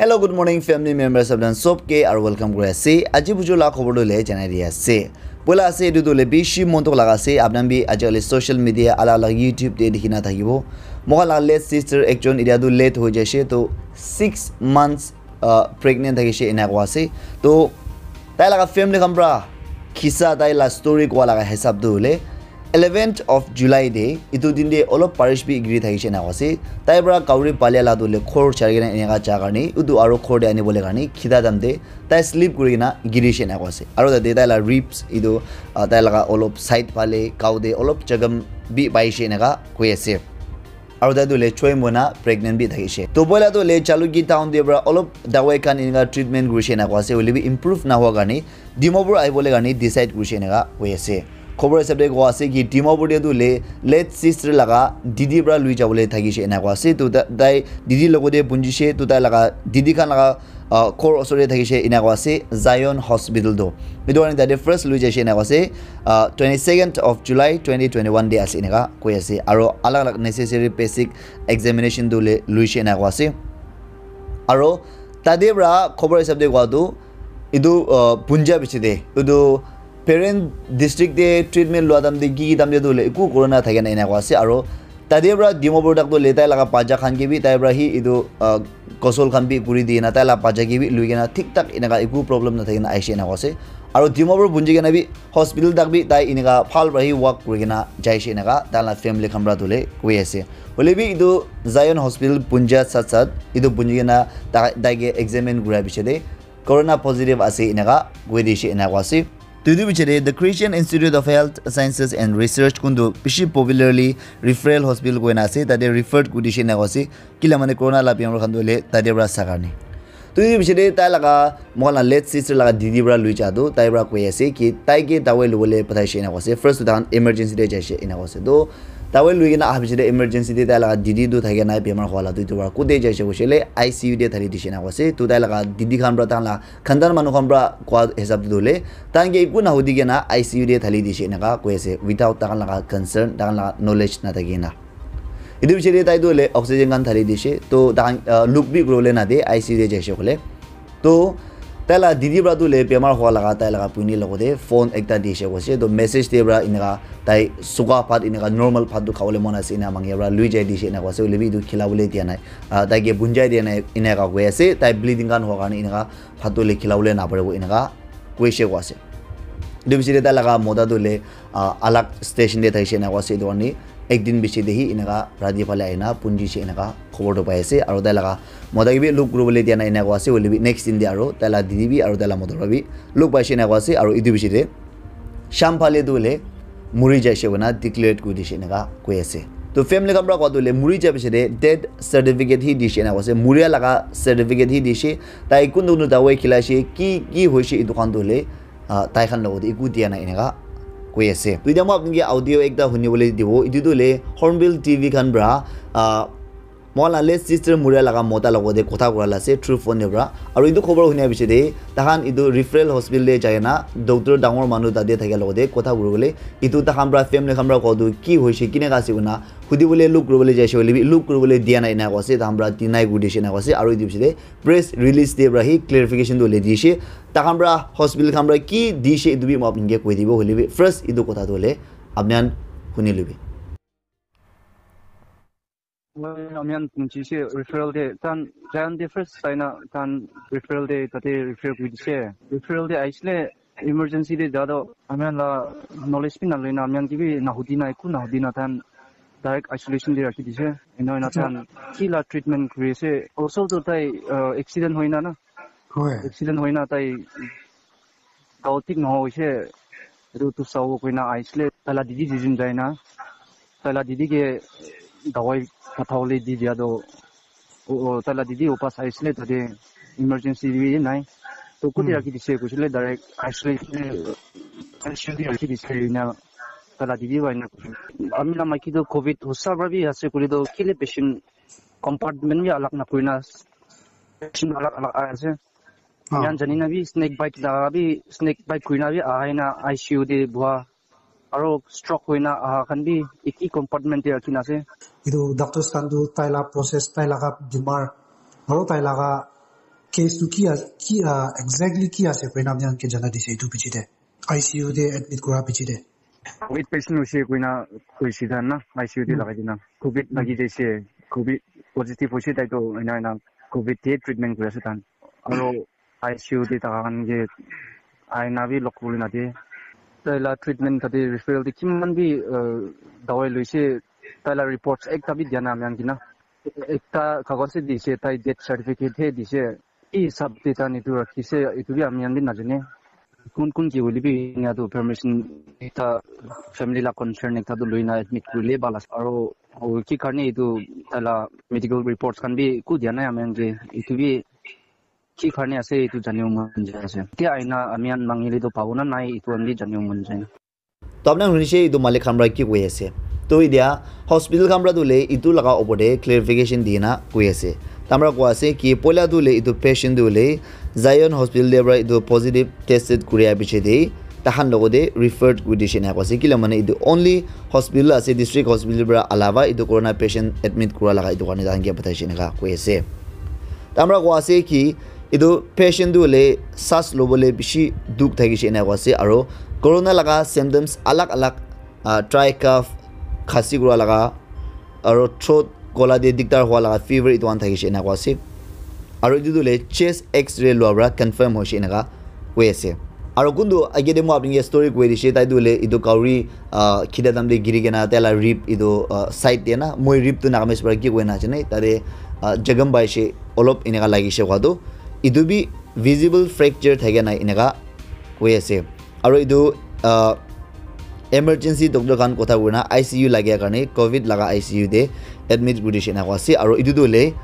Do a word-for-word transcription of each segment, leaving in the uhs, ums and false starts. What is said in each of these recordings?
Hello, good morning, family members of dan sob ke, aru welcome kuri ase. Aji bujo la khobor tu le janai di ase. Poila ase, etu tu le bishi mon thok laga ase. Apnan bi aji kali social media, alag alag YouTube te dikhi na thakibo. Moga la late sister ekjon etia tu late hoi jaise, to six months, uh, pregnant thakishe ena koa ase. To tai laga family khan pra kisa tai la story koa laga hisab tu hole eleventh of July de, itu din de olop parish bi giri thakishe ena koa ase. Tai pra kauri palia la tu le khor chari kena eneka ja karni, utu aro khor de ani bole karni, khita dam de tai sleep kuri kena giri she ena koa ase. Aro tate tai la ribs, itu, uh, tai laga olop side phale, kau de olop jagam bi pai she eneka koi ase. Aro tai tu le choi mona pregnant bi thakishe. To poila tu le Jalukie town de pra olop dawai khan eneka treatment kurishe ena koa ase, hoile bi improve na hua karni Dimapur ahibole karni decide kurishe eneka koi ase. Khobor hisab de koa ase ki Dimapur de tu le late sister laga didi pra lui jabole thakishe ena koa ase. To ta-, tai didi logote punjishe, to tai laga didi khan laga, uh, khor osor de thakishe ena koa ase, Zion Hospital to. Etu karni tate first lui jaishe ena koa ase, uh, twenty-second of July twenty twenty-one de ase eneka koi ase. Aro alag alag necessary basic examination tu le luishe ena koa ase. Aro tate pra khobor hisab de koa tu, etu, uh, punja bishi de, etu parent district de treatment lua dam de ki ki dam de tu le eku corona thake na ena koa ase. Aro tate pra Dimapur tak tu le tai laga bacha khan ke bi tai pra hi etu, uh, gosol khan bi kuri di na, tai la bacha ke bi lui kena thik thak eneka eku problem na thake na aishe ena koa ase. Aro Dimapur punji kena bi hospital tak bi tai eneka phal pra hi walk kuri kena jaishe eneka tai la family khan pra tu le koi ase. Hoile bi etu Zion Hospital punja sat sat etu punji kena tai, tai ke examine kura bishi de corona positive ase eneka koi dishe ena koa ase. To etu bishi de, the Christian Institute of Health Sciences and Research kuntu bishi popularly referral hospital koi na ase, tate referred kuri dishe ena koa ase. Kila mane corona la bimar khan tu le tate pra sa karni. To etu bishi de tai laga, moga la late sister laga didi pra lui ja tu, tai pra koi ase ki tai ke dawai lubole pathaishe ena koa ase. First tu tahan emergency de jaishe ena koa ase. To dawai lui kena aha bishi de emergency de tai laga didi tu thake nai bimar hua la tu, etu pra kote jaishe koishe le I C U de thali dishe ena koa ase. To tai laga didi khan pra tahan la khandan manu khan pra koa hisab de tu le, tahan ke eku na hudi kena I C U de thali dishe eneka koi ase, without tahan laga concern, tahan laga knowledge na thaki na. Etu bishi de tai tu le oxygen khan thali dishe, to tahan, uh, look bi kuribole na de I C U de jaishe koile. To tai la didi pra tu le bimar hua laga tai laga puini logote phone ekta dishe koise, to message de pra eneka tai suka bhat eneka normal bhat tu khabole mon ase ena mangi pra lui jai dishe ena koa ase, hoile bi etu khilabole dia nai. Ah, tai ke bunjai dia nai, eneka koi ase, tai bleeding khan hua karni eneka bhat tu le khilabole na paribo eneka koishe koa ase. Etu bishi de tai laga mota tu le, ah, alag station de thaishe ena koa ase, etu karni ek din bishi de hi eneka rati phale ahina punjishe eneka khobor tu pai ase. Aro tai laga mota ke bi look kuribole dia nai ena koa ase, hoile bi next din de aro tai la didi bi aro tai la mota pra bi look paishe ena koa ase. Aro etu bishi de sham phale tu hoile muri jaishe koina declared kuri dishe eneka koi ase. To family khan pra koa tu hoile muri ja bishi de death certificate hi dishe ena koa ase, muria laga certificate hi dishe, tai kuntu kuntu dawai khilaishe, ki ki hoishe etu khan tu hoile, ah, tai khan logote eku dia nai eneka koi ase. To etia moi apni ke audio ekta hunibole dibo, etu tu hoile Hornbill T V khan pra, ah, moga la late sister muria laga mota logote kotha kura la ase through phone de pra. Aro etu khobor hunia bishi de, tahan etu referral hospital de jai na doctor dangor manu tate thakia logote kotha kuribole, etu tahan pra family khan pra koa tu ki hoishe, kineka ase koina hudibole look kuribole jaishe hoile bi look kuribole dia nai ena koa ase, tahan pra deny kuri dishe ena koa ase. Aro etu bishi de press release de pra hi clarification tu hole dishe, tahan pra hospital khan pra ki dishe etu bi moi apni ke koi dibo, hoile bi first etu kotha tu hole apni khan huni lubi. Moi amian punchi se referral de tan jan de first saina tan referral de tate refer kuri dise. Referral de aisle emergency de jado amian la knowledge bi na loina amian ki bi na hudi na eku na hudi na tan direct isolation de rakhi dise. Ena ena tan ki la treatment kuri ase. Also to tai, uh, accident hoina na. Hoi. Accident hoina tai gao thik nohoise, etu tu sabo koina ahisile, taila didi duijun jaina, taila didi ke dawai pathabole di dia toh, o, o, taila didi upas ahisile, tate emergency bi nai. To kote rakhi dise koisile, direct isolation te, isolation te rakhi dise ena, taila didi para ena koise. Ami la maiki toh covid hosa para bi ase koile toh, kile patient compartment bi alag nakurina, patient alag alag ahi ase. Ah. Iyan jani na bi snake bite la bi, snake bite kurina bi ahai na I C U te boha. Aro stroke hoina aha khan bi eki compartment te rakhi na ase. Etu doctors khan tu tai la process, tai laga bimar, aro tai laga Case tu ki ase, ki, ah, exactly ki ase koina apni khan ke jana dise etu piche te? I C U te admit kura piche te. Covid patient hoise koina koise dan na, I C U te lagai dina. Covid lagi jaise, Covid positive hoise tai to ena ena Covid te treatment kuri ase tan. Aro I C U te thaka khan ke aina bi log kuri na de. Tai la treatment kate referral te kiman bi, uh, dawai loise, tai la reports ekta bi dia na ami khan kina. Ekta kagos he dise, tai death certificate he dise. Ki hisab te tai etu rakhise, etu bi ami khan bi najane. Kun kun ki hoile bi enia tu permission ekta family la concern ekta tu loina admit kurile bhal ase. Aro ki karne etu tai la medical reports khan bi eku dia nai ami khan ke. Etu bi ki karne ase etu janibo mon jai ase. Etia aina ami khan mangile tu pabo na nai etu khan bi janibo mon jai. To apni khan hunishe etu malik khan para ki koi ase. To etia hospital khan para tu le etu laga opor te clarification di na koi ase. Tai para koi ase ki poila tu le etu patient tu le Zion Hospital te para etu positive tested kuri a piche te tai khan logot te referred kuri dishe ena koi ase. Kila mane etu only hospital ase, district hospital para alawa etu corona patient admit kura laga etu karne tai khan ke pathaishe eneka koi ase. Tai para koi ase ki etu patient tu hoile saas lobole bishi dukh thakishe ena koi ase, aro corona laga symptoms alag alag, ah, dry cough, khasi kura laga, aro throat kola te dikdar hua laga fever etu khan thakishe ena koi ase, aro etu tu hoile chest X-ray lua para confirm hoishe eneka koi ase. Aro kuntu age te moi apni ke story koi dishe, tai tu hoile etu kauri, ah, khita time te giri kena tai la rib etu, ah, side te na, moi rib tu Nagamese para ki koi na jane, tate, ah, jagam paishe olop eneka lagishe koi tu, etu bi visible fracture thake na eneka koi ase. Aro etu, ah, emergency doctor khan kotha koi na I C U lagia karne Covid laga I C U te admit kuri dishe eneka koi ase. Aro etu tu hoile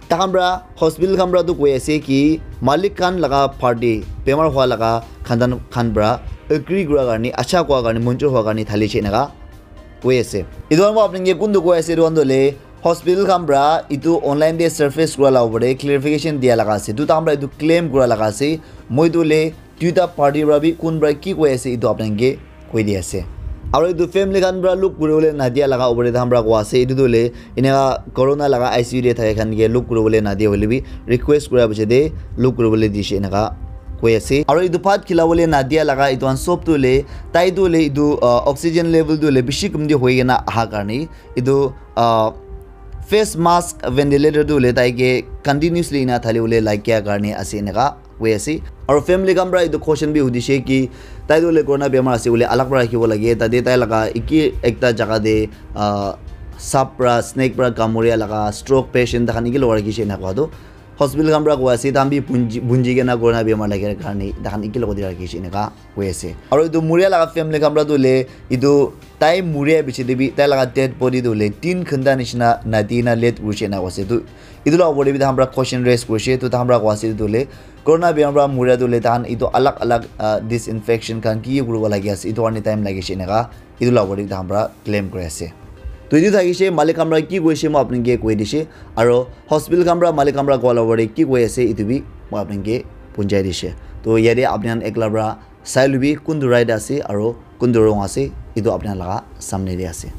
tai khan para hospital khan para tu koi ase ki malik khan laga party bemar hua laga khandan khan para agree kura karne, acha kua karne, monjur hua karne thalishe eneka koi ase. Etu khan moi apni ke kuntu koi ase, etu khan tu hoile hospital khan para etu online te surface kura la opor te clarification dia laga ase. Etu tai khan para etu claim kura laga ase. Moi tu hoile duita party para bi kun para ki koi ase etu apni khan ke koi di ase. Aro etu family khan para look kuri bole nadia laga opor te tai khan para koi ase. Etu tu hoile eneka corona laga I C U te thaka khan ke look kuri bole nadia hoile bi request kura piche te look kuri bole dishe eneka koi ase. Aro etu bhat khila bole nadia laga etu khan sob tu hoile tai tu hoile etu, ah, oxygen level tu hoile bishi kumti hoi kena aha karne etu, ah, face mask ventilator tu hoile tai ke continuously ena thali bole lagia karne ase eneka koi ase. Aro family khan para etu question bi hudishe ki tai tu hoile corona bemar ase bole alag para rakhibo lage, tate tai laga eki ekta jaga te, ah, sap para, snake para kamuria laga stroke patient tai khan eki logot rakhise eneka koi tu hospital khan para koi ase, tai khan bi bunji, bunji kena corona bemar lage karne tai khan eki logot te rakhise eneka koi ase. Aro etu muria laga family khan para tu hoile etu tai muria piche te bi tai laga dead body tu hoile tin ghanta nishina nadi na late kurishe eneka koi ase. Tu etu laga opor te bi tai khan para question raise kurishe, tu tai khan para koi ase etu tu hoile corona bemar para muria tu hoile tai khan etu alag alag, ah, disinfection khan ki ki kuribo lagi ase, etu karne time lagishe eneka etu laga opor te tai khan para claim kuri ase. To etu thakishe malik khan para ki koishe moi apni ke koi dishe, aro hospital khan para malik khan para koa laga opor te ki koi ase etu bi moi apni ke punjai dishe. To yate apni khan ekla para sai lubi kuntu right ase aro kuntu wrong ase, etu apni khan laga samne te ase.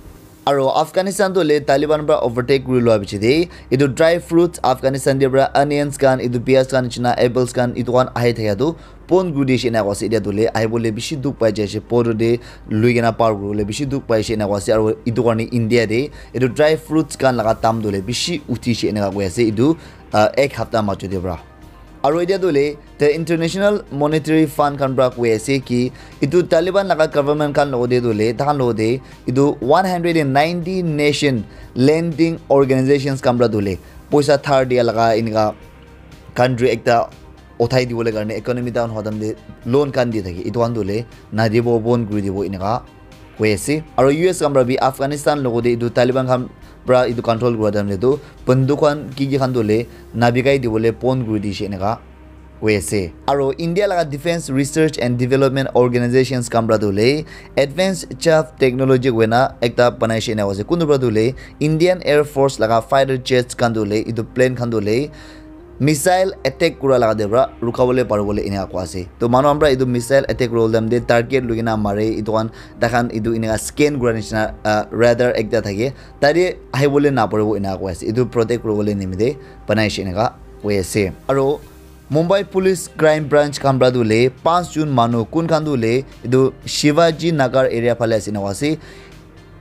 Aro Afghanistan tu hoile Taliban para overtake kuri lua piche te etu dry fruits Afghanistan te para onions khan, etu pyaj khan nishina apples khan etu khan ahi thaka tu bon kuri dishe eneka koi ase. Etia tu hoile ahi bole bishi dukh pai jaise, border te lui kena par kuri bole bishi dukh paishe eneka koi ase. Aro etu karne India te etu dry fruits khan laga dam tu hoile bishi uthishe eneka koi ase etu, ah, ek hapta majo te para. Aro etia tu hoile the International Monetary Fund khan para koi ase ki etu Taliban laga government khan logot te tu hoile tai khan logot te etu one hundred and ninety nation lending organizations khan para tu hoile poisa dhar dia laga eneka country ekta uthai dibole karne economy down hua time te loan khan di thake, etu khan tu hoile nadibo, bon kuri dibo eneka koi ase. Aro U S khan para bi Afghanistan logot te etu Taliban khan para etu control kura time te tu banduk khan ki ki khan tu hoile nabikai dibole bon kuri dishe eneka koi ase. Aro India laga Defence Research and Development Organizations khan para tu hoile advanced chaff technology koina ekta banaishe eneka koi ase. Kuntu para tu hoile Indian Air Force laga fighter jets khan tu hoile etu plane khan tu hoile missile attack kura laga te para rukha bole pari bole eneka koi ase. To manu khan para etu missile attack kuri bole time te target lui kena mare, etu khan tai khan etu eneka scan kura nishina, ah, radar ekta thake, tate ahi bole na paribo eneka koi ase. Etu protect kuri bole nimite banaishe eneka koi ase. Aro Mumbai Police Crime Branch khan para tu hoile panch jon manu kun khan tu hoile etu Shivaji Nagar area phale ase ena koa ase.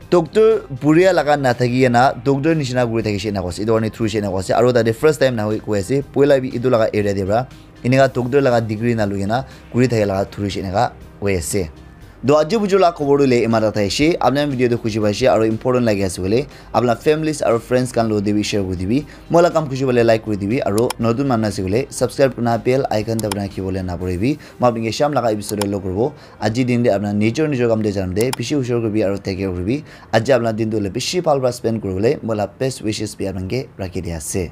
Doctor buria laga nathaki kena doctor nishina kuri thakishe ena koa ase. Etu karne thurishe ena koa ase. Aru tate first time na hoi koi ase. Poila bi etu laga area te para eneka doctor laga degree na lui kena kuri thaka laga thurishe eneka koi ase. To aji buju la khobor tu le iman ta thaishe. Apna video tu khushi paishe aru important lagi ase koile apna families aru friends khan lo te bi share kuri dibi. Moi la kam khushi pale like kuri dibi aru notun manu ase koile subscribe kurna bell icon dabana rakhibole na puribi. Moi apni ke sham laga episode lo kuribo. Aji din te apna nijor nijor kam te janam te bishi hushar kuribi aru take care kuribi. Aji apna din tu le bishi bhal para spend kuribole moi la best wishes bi apna ke rakhi dia ase.